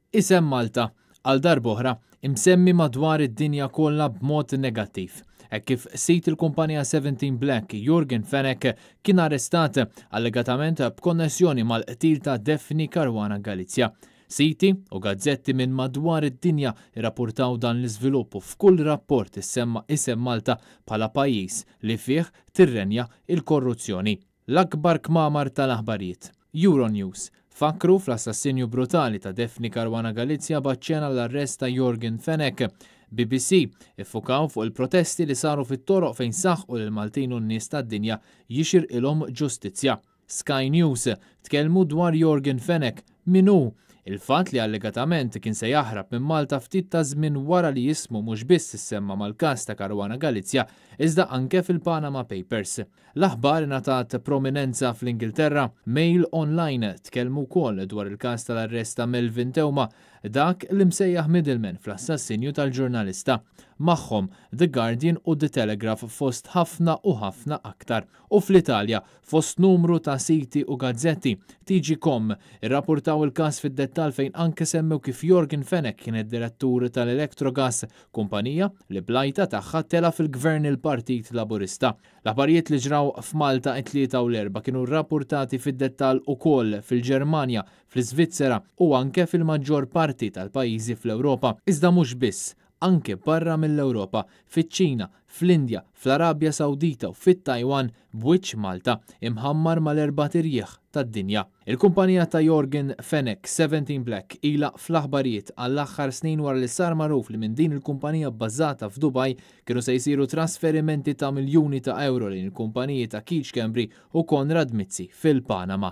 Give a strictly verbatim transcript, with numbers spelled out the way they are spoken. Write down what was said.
Isem Malta, għal darb'oħra, imsemmi madwar id-dinja kollha b'mod negattiv. Hekk kif sid il-kumpanija seventeen Black, Yorgen Fenech, kien arrestat allegatament b'konnessjoni mal-qtil ta' Daphne Caruana Galizia. Siti u gazzetti minn madwar id-dinja irrapportaw dan l-iżvilupp u f'kull rapport issemma isem Malta bħala pajjiż li fih tirrenja il-korruzzjoni. L-akbar kmamar tal-aħbarijiet. Euronews fakru fl-assassinju brutali ta' Daphne Caruana Galizia b'aċċenn l-arrest ta' Yorgen Fenech. B B C iffukaw fuq il-protesti li saru fit-toroq fejn saħqu lil Maltin u n-nies tad-dinja jixirqilhom ġustizzja. Sky News tkellmu dwar Yorgen Fenech, min hu? Il-fatt li allegatament kien se jaħrab minn Malta ftit ta' żmien wara li jismu mhux biss issemma mal-każ ta' Caruana Galizia, iżda anke fil-Panama Papers. L-aħbar ingħatat prominenza fl-Ingilterra. Mail Online tkellmu wkoll dwar il-każ tal-arrest ta' Melvin Theuma, dak li msejjaħ middleman fl-assassinju tal-ġurnalista. Magħhom The Guardian u The Telegraph fost ħafna u ħafna aktar. U fl-Italja, fost numru ta' siti u gazzetti, T G Com irrapportaw il-każ fid-dettall fejn anke semmew kif Yorgen Fenech kien id-direttur tal-Electrogas, kumpanija li blajta tagħha tela fil-gvern il-Partit Laburista. L-aħbarijiet li ġraw f'Malta it-Tlieta u l-Erbgħa kienu rrapportati fid-dettall ukoll fil-Ġermanja, fl-Iżvizzera u anke fil-maġġor parti tal-pajjiżi fl-Ewropa. Iżda mhux biss, anke barra mill-Ewropa, fiċ-Ċina, fl-Indja, fl-Arabja Sawdita u fit-Taiwan b'wiċċ Malta imħammar mal-erba' tirjieħ tad-dinja. Il-kumpanija ta' Yorgen Fenech, seventeen Black, ilha fl-aħbarijiet għall-aħħar snin wara li sar magħruf li minn din il-kumpanija bbażata f'Dubaj kienu se jsiru trasferimenti ta' miljuni ta' euro lejn il-kumpaniji ta' Keith Schembri u Konrad Mizzi fil-Panama.